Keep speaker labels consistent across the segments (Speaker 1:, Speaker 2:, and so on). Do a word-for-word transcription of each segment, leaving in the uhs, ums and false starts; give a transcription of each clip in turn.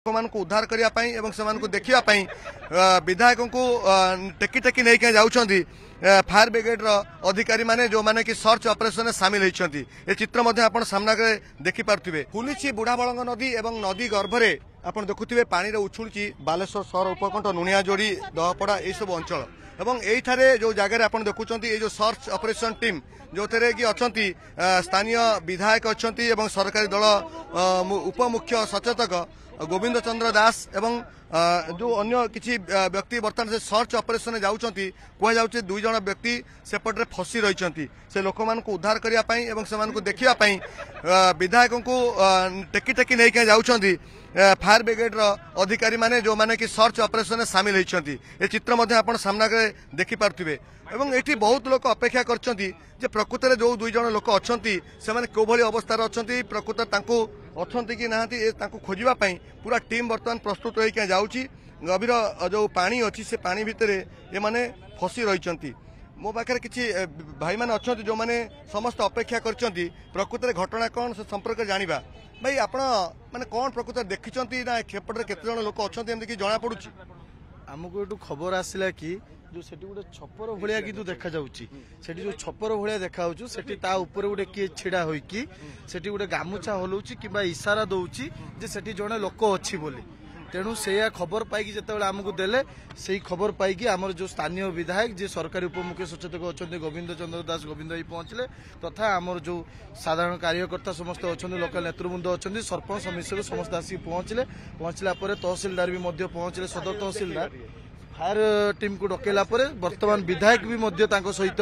Speaker 1: ଲୋକମାନଙ୍କୁ ଉଦ୍ଧାର କରିବା ପାଇଁ ଏବଂ ସେମାନଙ୍କୁ ଦେଖିବା ପାଇଁ ବିଧାୟକଙ୍କୁ ଟେକି ଟେକି ନେଇକି ଯାଉଛନ୍ତି ଫାୟାର ବ୍ରିଗେଡର ଅଧିକାରୀମାନେ, ଯେଉଁମାନେ କି ସର୍ଚ୍ଚ ଅପରେସନରେ ସାମିଲ ହୋଇଛନ୍ତି। ଏ ଚିତ୍ର ମଧ୍ୟ ଆପଣ ସାମ୍ନାରେ ଦେଖିପାରୁଥିବେ। ଫୁଲିଛି ବୁଢ଼ାବଳଙ୍ଗ ନଦୀ ଏବଂ ନଦୀ ଗର୍ଭରେ ଆପଣ ଦେଖୁଥିବେ ପାଣିରେ ଉଛୁଳୁଛି ବାଲେଶ୍ୱର ସହର ଉପକଣ୍ଠ ନୁଣିଆଯୋଡ଼ି, ଦହପଡ଼ା ଏଇସବୁ ଅଞ୍ଚଳ। ଏବଂ ଏଇଠାରେ ଯେଉଁ ଜାଗାରେ ଆପଣ ଦେଖୁଛନ୍ତି, ଏଇ ଯେଉଁ ସର୍ଚ୍ଚ ଅପରେସନ ଟିମ୍, ଯେଉଁଥିରେ କି ଅଛନ୍ତି ସ୍ଥାନୀୟ ବିଧାୟକ ଅଛନ୍ତି ଏବଂ ସରକାରୀ ଦଳ ଉପମୁଖ୍ୟ ସଚେତକ ଗୋବିନ୍ଦ ଚନ୍ଦ୍ର ଦାସ ଏବଂ ଯେଉଁ ଅନ୍ୟ କିଛି ବ୍ୟକ୍ତି ବର୍ତ୍ତମାନ ସେ ସର୍ଚ୍ଚ ଅପରେସନରେ ଯାଉଛନ୍ତି। କୁହାଯାଉଛି ଦୁଇ ଜଣ ବ୍ୟକ୍ତି ସେପଟରେ ଫସି ରହିଛନ୍ତି। ସେ ଲୋକମାନଙ୍କୁ ଉଦ୍ଧାର କରିବା ପାଇଁ ଏବଂ ସେମାନଙ୍କୁ ଦେଖିବା ପାଇଁ ବିଧାୟକଙ୍କୁ ଟେକି ଟେକି ନେଇକି ଯାଉଛନ୍ତି ଫାୟାର ବ୍ରିଗେଡର ଅଧିକାରୀମାନେ, ଯେଉଁମାନେ କି ସର୍ଚ୍ଚ ଅପରେସନରେ ସାମିଲ ହୋଇଛନ୍ତି। ଏ ଚିତ୍ର ମଧ୍ୟ ଆପଣ ସାମ୍ନାରେ ଦେଖିପାରୁଥିବେ। ଏବଂ ଏଠି ବହୁତ ଲୋକ ଅପେକ୍ଷା କରିଛନ୍ତି ଯେ ପ୍ରକୃତରେ ଯେଉଁ ଦୁଇ ଜଣ ଲୋକ ଅଛନ୍ତି, ସେମାନେ କେଉଁଭଳି ଅବସ୍ଥାରେ ଅଛନ୍ତି, ପ୍ରକୃତରେ ତାଙ୍କୁ ଅଛନ୍ତି କି ନାହାନ୍ତି, ଏ ତାଙ୍କୁ ଖୋଜିବା ପାଇଁ ପୁରା ଟିମ୍ ବର୍ତ୍ତମାନ ପ୍ରସ୍ତୁତ ହୋଇକି ଯାଉଛି। ଗଭୀର ଯେଉଁ ପାଣି ଅଛି, ସେ ପାଣି ଭିତରେ ଏମାନେ ଫସି ରହିଛନ୍ତି। ମୋ ପାଖରେ କିଛି ଭାଇମାନେ ଅଛନ୍ତି, ଯେଉଁମାନେ ସମସ୍ତେ ଅପେକ୍ଷା କରିଛନ୍ତି ପ୍ରକୃତରେ ଘଟଣା କ'ଣ ସେ ସମ୍ପର୍କରେ ଜାଣିବା। ଭାଇ, ଆପଣ ମାନେ କ'ଣ ପ୍ରକୃତରେ ଦେଖିଛନ୍ତି ନା ସେପଟରେ କେତେ ଜଣ ଲୋକ ଅଛନ୍ତି ଏମିତି କି ଜଣାପଡୁଛି?
Speaker 2: ଆମକୁ ଏଠୁ ଖବର ଆସିଲା କି ଯୋଉ ସେଠି ଗୋଟେ ଛପର ଭଳିଆ କିନ୍ତୁ ଦେଖାଯାଉଛି, ସେଠି ଯୋଉ ଛପର ଭଳିଆ ଦେଖାଯାଉଛି, ସେଠି ତା ଉପରେ ଗୋଟେ କିଏ ଛିଡା ହୋଇକି ସେଠି ଗୋଟେ ଗାମୁଛା ହଲଉଛି କିମ୍ବା ଇସାରା ଦଉଛି ଯେ ସେଠି ଜଣେ ଲୋକ ଅଛି ବୋଲି। ତେଣୁ ସେଇଆ ଖବର ପାଇକି ଯେତେବେଳେ ଆମକୁ ଦେଲେ, ସେଇ ଖବର ପାଇକି ଆମର ଯୋଉ ସ୍ଥାନୀୟ ବିଧାୟକ, ଯିଏ ସରକାରୀ ଉପମୁଖ୍ୟ ସଚେତକ ଅଛନ୍ତି, ଗୋବିନ୍ଦ ଚନ୍ଦ୍ର ଦାସ, ଗୋବିନ୍ଦ ଭାଇ ପହଞ୍ଚିଲେ, ତଥା ଆମର ଯୋଉ ସାଧାରଣ କାର୍ଯ୍ୟକର୍ତ୍ତା ସମସ୍ତେ ଅଛନ୍ତି, ଲୋକାଲ ନେତୃବୃନ୍ଦ ଅଛନ୍ତି, ସରପଞ୍ଚ ସମିତିକୁ ସମସ୍ତେ ଆସିକି ପହଞ୍ଚିଲେ। ପହଞ୍ଚିଲା ପରେ ତହସିଲଦାର ବି ମଧ୍ୟ ପହଞ୍ଚିଲେ, ସଦର ତହସିଲଦାର। ଫାୟାର ଟିମ୍କୁ ଡକେଇଲା ପରେ ବର୍ତ୍ତମାନ ବିଧାୟକ ବି ମଧ୍ୟ ତାଙ୍କ ସହିତ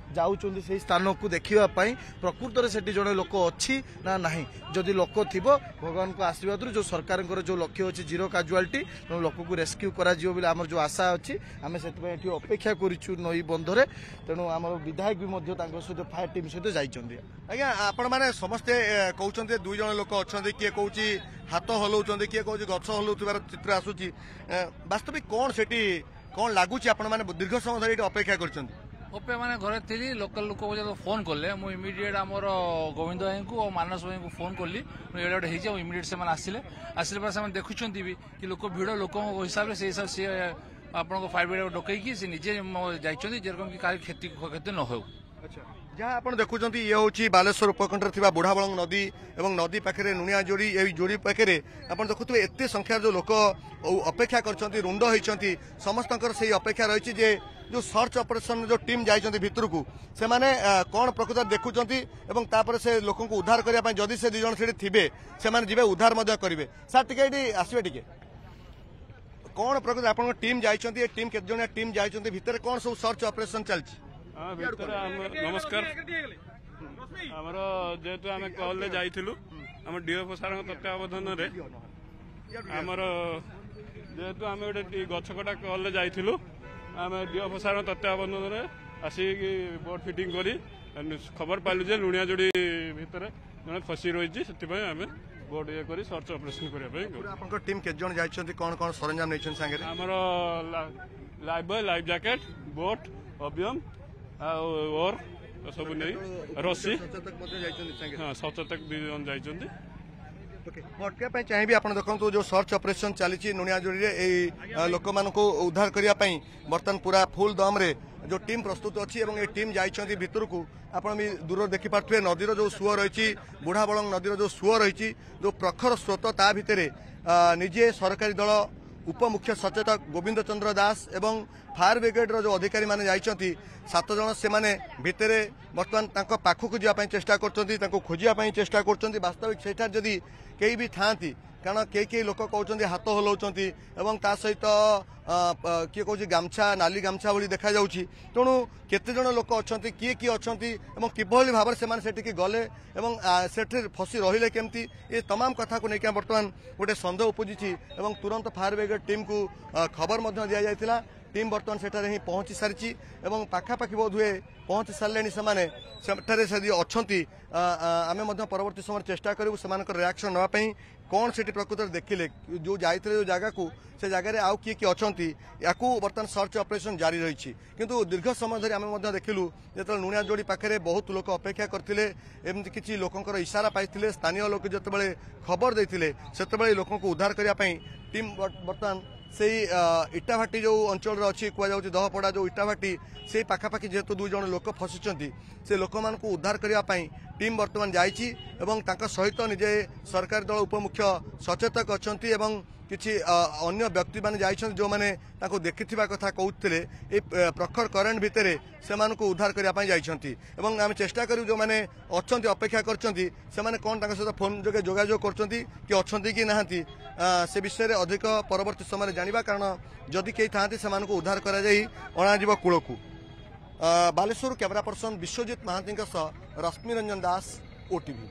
Speaker 2: ଯାଉଛନ୍ତି ସେଇ ସ୍ଥାନକୁ ଦେଖିବା ପାଇଁ, ପ୍ରକୃତରେ ସେଠି ଜଣେ ଲୋକ ଅଛି ନା ନାହିଁ। ଯଦି ଲୋକ ଥିବ, ଭଗବାନଙ୍କ ଆଶୀର୍ବାଦରୁ ଯୋଉ ସରକାରଙ୍କର ଯୋଉ ଲକ୍ଷ୍ୟ ଅଛି ଜିରୋ କାଜୁଆଲିଟି, ତେଣୁ ଲୋକକୁ ରେସ୍କ୍ୟୁ କରାଯିବ ବୋଲି ଆମର ଯୋଉ ଆଶା ଅଛି, ଆମେ ସେଥିପାଇଁ ଏଠି ଅପେକ୍ଷା କରିଛୁ ନଈ ବନ୍ଧରେ। ତେଣୁ ଆମର ବିଧାୟକ ବି ମଧ୍ୟ ତାଙ୍କ ସହିତ ଫାୟାର ଟିମ୍ ସହିତ ଯାଇଛନ୍ତି।
Speaker 1: ଆଜ୍ଞା, ଆପଣମାନେ ସମସ୍ତେ କହୁଛନ୍ତି ଦୁଇ ଜଣ ଲୋକ ଅଛନ୍ତି, କିଏ କହୁଛି ହାତ ହଲଉଛନ୍ତି, କିଏ କହୁଛି ଗଛ ହଲଉଥିବାର ଚିତ୍ର ଆସୁଛି। ବାସ୍ତବିକ କ'ଣ ସେଠି କ'ଣ ଲାଗୁଛି? ଆପଣମାନେ ଦୀର୍ଘ ସମୟ ଧରି ଏଠି ଅପେକ୍ଷା କରିଛନ୍ତି।
Speaker 3: ଅପେକ୍ଷା ମାନେ ଘରେ ଥିଲି, ଲୋକାଲ ଲୋକ ଯେତେବେଳେ ଫୋନ୍ କଲେ, ମୁଁ ଇମିଡିଏଟ୍ ଆମର ଗୋବିନ୍ଦ ଭାଇଙ୍କୁ ଆଉ ମାନସ ଭାଇଙ୍କୁ ଫୋନ୍ କଲି, ଏଇଟା ଗୋଟେ ହେଇଛି। ଆଉ ଇମିଡିଏଟ୍ ସେମାନେ ଆସିଲେ। ଆସିଲା ପରେ ସେମାନେ ଦେଖୁଛନ୍ତି ବି କି ଲୋକ ଭିଡ଼, ଲୋକଙ୍କ ହିସାବରେ ସେଇ ହିସାବରେ ସିଏ ଆପଣଙ୍କ ଫାୟାର ବ୍ରିଗେଡ୍ ଡକେଇକି ସେ ନିଜେ ଯାଇଛନ୍ତି, ଯେରକମ କି କାହାର କ୍ଷତି କ୍ଷତି ନ ହେଉ।
Speaker 1: ଆଚ୍ଛା, ଯାହା ଆପଣ ଦେଖୁଛନ୍ତି, ଇଏ ହେଉଛି ବାଲେଶ୍ୱର ଉପକଣ୍ଠରେ ଥିବା ବୁଢ଼ାବଳଙ୍ଗ ନଦୀ ଏବଂ ନଦୀ ପାଖରେ ନୁଣିଆ ଯୋଡ଼ି। ଏଇ ଯୋଡ଼ି ପାଖରେ ଆପଣ ଦେଖୁଥିବେ ଏତେ ସଂଖ୍ୟାର ଯେଉଁ ଲୋକ ଅପେକ୍ଷା କରିଛନ୍ତି, ରୁଣ୍ଡ ହୋଇଛନ୍ତି, ସମସ୍ତଙ୍କର ସେଇ ଅପେକ୍ଷା ରହିଛି ଯେ ଯେଉଁ ସର୍ଚ୍ଚ ଅପରେସନ ଯେଉଁ ଟିମ୍ ଯାଇଛନ୍ତି ଭିତରକୁ, ସେମାନେ କ'ଣ ପ୍ରକୃତରେ ଦେଖୁଛନ୍ତି ଏବଂ ତାପରେ ସେ ଲୋକଙ୍କୁ ଉଦ୍ଧାର କରିବା ପାଇଁ, ଯଦି ସେ ଦୁଇ ଜଣ ସେଠି ଥିବେ, ସେମାନେ ଯିବେ, ଉଦ୍ଧାର ମଧ୍ୟ କରିବେ। ସାର୍, ଟିକେ ଏଇଠି ଆସିବେ ଟିକେ। କ'ଣ ପ୍ରକୃତ ଆପଣଙ୍କ ଟିମ୍ ଯାଇଛନ୍ତି? ଏ ଟିମ୍ କେତେ ଜଣିଆ ଟିମ୍ ଯାଇଛନ୍ତି ଭିତରେ? କ'ଣ ସବୁ ସର୍ଚ୍ଚ ଅପରେସନ ଚାଲିଛି?
Speaker 4: ଭିତରେ ନମସ୍କାର। ଆମର ଯେହେତୁ ଆମେ କଲରେ ଯାଇଥିଲୁ, ଆମ ଡିଏଫଓ ସାରଙ୍କ ତତ୍ତ୍ୱାବଧାନରେ, ଆମର ଯେହେତୁ ଆମେ ଗୋଟେ ଗଛ କଟା କଲରେ ଯାଇଥିଲୁ, ଆମେ ଡିଏଫଓ ସାରଙ୍କ ତତ୍ତ୍ୱାବଧାନରେ ଆସିକି ବୋଟ୍ ଫିଟିଂ କରି ଖବର ପାଇଲୁ ଯେ ଲୁଣିଆ ଯୋଡ଼ି ଭିତରେ ଜଣେ ଫସି ରହିଛି। ସେଥିପାଇଁ ଆମେ ବୋଟ୍ ଇଏ କରି ସର୍ଚ୍ଚ ଅପରେସନ କରିବା ପାଇଁ।
Speaker 1: ଆପଣଙ୍କ ଟିମ୍ କେତେ ଜଣ ଯାଇଛନ୍ତି? କ'ଣ କ'ଣ ସରଞ୍ଜାମ ନେଇଛନ୍ତି ସାଙ୍ଗରେ?
Speaker 4: ଆମର life buoy, life jacket, boat, ଅବିୟମ ଆଉ ଓର ସବୁ ନେଇ, ରସି। ହଁ, ସଚେତକ ଦୁଇ ଜଣ ଯାଇଛନ୍ତି।
Speaker 1: ମୁଁ ଅଟକିବା ପାଇଁ ଚାହିଁବି। ଆପଣ ଦେଖନ୍ତୁ, ଯେଉଁ ସର୍ଚ୍ଚ ଅପରେସନ ଚାଲିଛି ନୁଣିଆଯୋଡ଼ିରେ, ଏଇ ଲୋକମାନଙ୍କୁ ଉଦ୍ଧାର କରିବା ପାଇଁ ବର୍ତ୍ତମାନ ପୁରା ଫୁଲ ଦମରେ ଯେଉଁ ଟିମ୍ ପ୍ରସ୍ତୁତ ଅଛି ଏବଂ ଏ ଟିମ୍ ଯାଇଛନ୍ତି ଭିତରକୁ। ଆପଣ ବି ଦୂରରୁ ଦେଖିପାରୁଥିବେ ନଦୀର ଯେଉଁ ସୁଅ ରହିଛି, ବୁଢ଼ାବଳଙ୍ଗ ନଦୀର ଯେଉଁ ସୁଅ ରହିଛି, ଯେଉଁ ପ୍ରଖର ସ୍ରୋତ, ତା ଭିତରେ ନିଜେ ସରକାରୀ ଦଳ ଉପମୁଖ୍ୟ ସଚେତକ ଗୋବିନ୍ଦ ଚନ୍ଦ୍ର ଦାସ ଏବଂ ଫାୟାର ବ୍ରିଗେଡର ଯେଉଁ ଅଧିକାରୀମାନେ ଯାଇଛନ୍ତି ସାତ ଜଣ, ସେମାନେ ଭିତରେ ବର୍ତ୍ତମାନ ତାଙ୍କ ପାଖକୁ ଯିବା ପାଇଁ ଚେଷ୍ଟା କରୁଛନ୍ତି, ତାଙ୍କୁ ଖୋଜିବା ପାଇଁ ଚେଷ୍ଟା କରୁଛନ୍ତି। ବାସ୍ତବିକ ସେଠାରେ ଯଦି କେହି ବି ଥାଆନ୍ତି, କାରଣ କେହି କେହି ଲୋକ କହୁଛନ୍ତି ହାତ ହଲାଉଛନ୍ତି ଏବଂ ତା ସହିତ କିଏ କହୁଛି ଗାମଛା, ନାଲି ଗାମଛା ଭଳି ଦେଖାଯାଉଛି। ତେଣୁ କେତେ ଜଣ ଲୋକ ଅଛନ୍ତି, କିଏ କିଏ ଅଛନ୍ତି ଏବଂ କିଭଳି ଭାବରେ ସେମାନେ ସେଠିକି ଗଲେ ଏବଂ ସେଠି ଫସି ରହିଲେ କେମିତି, ଏ ତମାମ କଥାକୁ ନେଇକି ବର୍ତ୍ତମାନ ଗୋଟେ ସନ୍ଦେହ ଉପୁଜିଛି ଏବଂ ତୁରନ୍ତ ଫାୟାର ବ୍ରିଗେଡ୍ ଟିମ୍କୁ ଖବର ମଧ୍ୟ ଦିଆଯାଇଥିଲା। ଟିମ୍ ବର୍ତ୍ତମାନ ସେଠାରେ ହିଁ ପହଞ୍ଚି ସାରିଛି ଏବଂ ପାଖାପାଖି ବୋଧହୁଏ ପହଞ୍ଚି ସାରିଲେଣି ସେମାନେ। ସେଠାରେ ଯଦି ଅଛନ୍ତି, ଆ, ଆ, ଆମେ ମଧ୍ୟ ପରବର୍ତ୍ତୀ ସମୟରେ ଚେଷ୍ଟା କରିବୁ ସେମାନଙ୍କର ରିଆକ୍ସନ୍ ନେବା ପାଇଁ, କ'ଣ ସେଠି ପ୍ରକୃତରେ ଦେଖିଲେ, ଯେଉଁ ଯାଇଥିଲେ ଯେଉଁ ଜାଗାକୁ, ସେ ଜାଗାରେ ଆଉ କିଏ କିଏ ଅଛନ୍ତି। ୟାକୁ ବର୍ତ୍ତମାନ ସର୍ଚ୍ଚ ଅପରେସନ୍ ଜାରି ରହିଛି। କିନ୍ତୁ ଦୀର୍ଘ ସମୟ ଧରି ଆମେ ମଧ୍ୟ ଦେଖିଲୁ, ଯେତେବେଳେ ନୁଣିଆ ଯୋଡ଼ି ପାଖରେ ବହୁତ ଲୋକ ଅପେକ୍ଷା କରିଥିଲେ, ଏମିତି କିଛି ଲୋକଙ୍କର ଇସାରା ପାଇଥିଲେ, ସ୍ଥାନୀୟ ଲୋକ ଯେତେବେଳେ ଖବର ଦେଇଥିଲେ, ସେତେବେଳେ ଲୋକଙ୍କୁ ଉଦ୍ଧାର କରିବା ପାଇଁ ଟିମ୍ ବର୍ତ୍ତମାନ ସେଇ ଇଟାଭାଟି ଯେଉଁ ଅଞ୍ଚଳରେ ଅଛି, କୁହାଯାଉଛି ଦହପଡ଼ା ଯେଉଁ ଇଟାଭାଟି, ସେଇ ପାଖାପାଖି ଯେହେତୁ ଦୁଇ ଜଣ ଲୋକ ଫସିଛନ୍ତି, ସେ ଲୋକମାନଙ୍କୁ ଉଦ୍ଧାର କରିବା ପାଇଁ ଟିମ୍ ବର୍ତ୍ତମାନ ଯାଇଛି ଏବଂ ତାଙ୍କ ସହିତ ନିଜେ ସରକାରୀ ଦଳ ଉପମୁଖ୍ୟ ସଚେତକ ଅଛନ୍ତି ଏବଂ କିଛି ଅନ୍ୟ ବ୍ୟକ୍ତିମାନେ ଯାଇଛନ୍ତି, ଯେଉଁମାନେ ତାଙ୍କୁ ଦେଖିଥିବା କଥା କହୁଥିଲେ। ଏ ପ୍ରଖର କରେଣ୍ଟ ଭିତରେ ସେମାନଙ୍କୁ ଉଦ୍ଧାର କରିବା ପାଇଁ ଯାଇଛନ୍ତି ଏବଂ ଆମେ ଚେଷ୍ଟା କରିବୁ, ଯେଉଁମାନେ ଅଛନ୍ତି, ଅପେକ୍ଷା କରିଛନ୍ତି, ସେମାନେ କ'ଣ ତାଙ୍କ ସହିତ ଫୋନ୍ ଯୋଗେ ଯୋଗାଯୋଗ କରୁଛନ୍ତି କି ଅଛନ୍ତି କି ନାହାନ୍ତି, ସେ ବିଷୟରେ ଅଧିକ ପରବର୍ତ୍ତୀ ସମୟରେ ଜାଣିବା। କାରଣ ଯଦି କେହି ଥାଆନ୍ତି, ସେମାନଙ୍କୁ ଉଦ୍ଧାର କରାଯାଇ ଅଣାଯିବ କୂଳକୁ। ବାଲେଶ୍ୱର କ୍ୟାମେରା ପର୍ସନ ବିଶ୍ୱଜିତ ମହାନ୍ତିଙ୍କ ସହ ରଶ୍ମି ରଞ୍ଜନ ଦାସ, ଓଟିଭି।